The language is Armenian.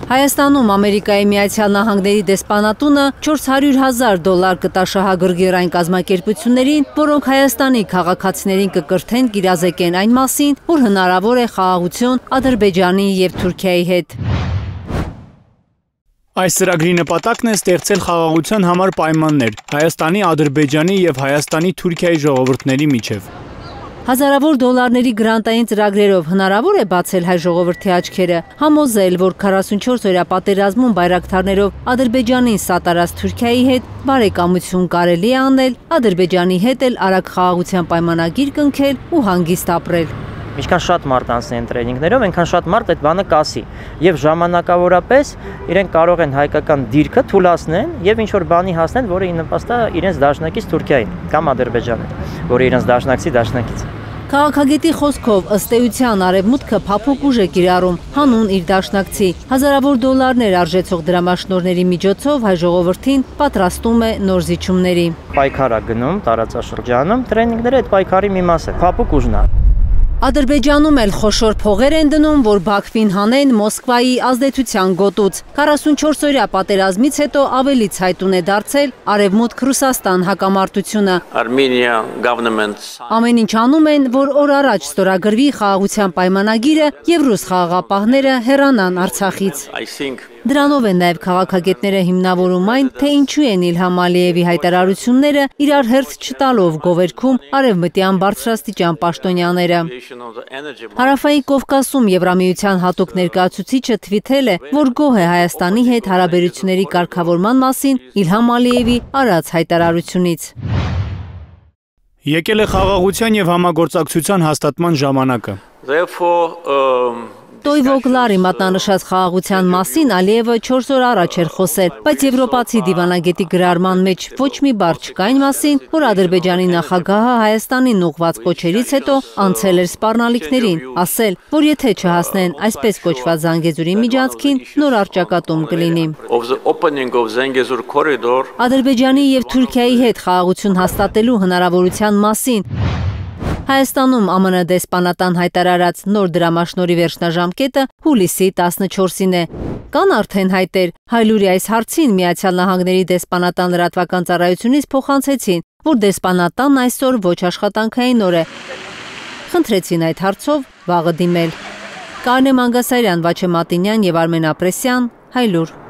Հայաստանում Ամերիկայի Միացյալ Նահանգների դեսպանատունը $400,000 կտա շահագրգիռ այն կազմակերպություններին, որոնք Հայաստանի քաղաքացիներին կկրթեն գիրազեկեն այն մասին, որ հնարավոր է խաղաղություն Ադրբեջանի և Թուրքիայի հետ։ Այս ծրագրի նպատակն է ստեղծել խաղաղության համար պայմաններ Հայաստանի, Ադրբեջանի և Հայաստանի Թուրքիայի ժողովուրդների միջև։ Հազարավոր դոլարների գրանտային ծրագրերով հնարավոր է բացել հայ ժողովրդի աչքերը, համոզել, որ 44-օրյա պատերազմում բայրակթարներով Ադրբեջանին սատարած Թուրքիայի հետ բարեկամություն կարելի է անել, Ադրբեջանի հետ էլ արագ խաղաղության պայմանագիր կնքել ու հանգիստ ապրել։ Ինչքան շատ մարդ անցնեն տրեյնինգներով, այնքան շատ մարդ այդ բանը կասի եւ ժամանակավորապես իրենք կարող են հայկական դիրքը թուլացնեն եւ ինչ որ բանի հասնեն, որը ի նպաստ է իրենց դաշնակից Թուրքիային կամ Ադրբեջանին, որը իրենց դաշնակից։ Քաղաքագետի խոսքով ըստ էության Արևմուտքը փափուկ ուժ է կիրառում հանուն իր դաշնակցի, հազարավոր դոլարներ արժեցող դրամաշնորհների միջոցով հայ ժողովրդին պատրաստում է նոր զիջումների։ Պայքար է գնում տարածաշրջանում, տրեյնինգները այդ պայքարի մի մաս է, փափուկ ուժն է։ Ադրբեջանում էլ խոշոր փողեր են դնում, որ Բաքվին հանեն Մոսկվայի ազդեցության գոտուց։ 44-օրյա պատերազմից հետո ավելի ցայտուն է դարձել Արևմուտք-Ռուսաստան հակամարտությունը։ Ամեն ինչ անում են, որ օր առաջ ստորագրվի խաղաղության պայմանագիրը և ռուս խաղաղապահները հեռանան Արցախից։ Դրանով են նաև քաղաքագետները հիմնավորում այն, թե ինչու են Իլհամ Ալիևի հայտարարությունները իրար հերթ չտալով գովերգում արևմտյան բարձրաստիճան պաշտոնյաները։ Հարավային Կովկասում Եվրամիության հատուկ ներկայացուցիչը թվիթել է, որ գոհ է Հայաստանի հետ հարաբերությունների կարգավորման մասին Իլհամ Ալիևի արած հայտարարությունից։ Եկել է խաղաղության և համագործակցության հաստատման ժամանակը։ Տոյվոգլարի մատնանշած խաղաղության մասին Ալիևը 4 օր առաջ էր խոսել, բայց եվրոպացի դիվանագետի գրառման մեջ ոչ մի բառ չկա այն մասին, որ Ադրբեջանի նախագահը Հայաստանին ուղղված կոչերից հետո անցել էր սպառնալիքներին, ասել, որ եթե չհասնեն այսպես կոչված Զանգեզուրի միջանցքին, նոր առճակատում կլինի։ Ադրբեջանի և Թուրքիայի հետ խաղաղություն հաստատելու հնարավորության մասին Հայաստանում ԱՄՆ դեսպանատան հայտարարած նոր դրամաշնորհի վերջնաժամկետը հուլիսի 14-ին է։ Կան արդեն հայտեր, Հայլուրի այս հարցին Միացյալ Նահանգների դեսպանատան լրատվական ծառայությունից փոխանցեցին, որ դեսպանատանն այսօր ոչ աշխատանքային օր է։ Խնդրեցին այդ հարցով վաղը դիմել։ Կարինե Մանգասարյան, Վաչե Մատինյան և Արմեն Ապրեսյան, Հայլուր։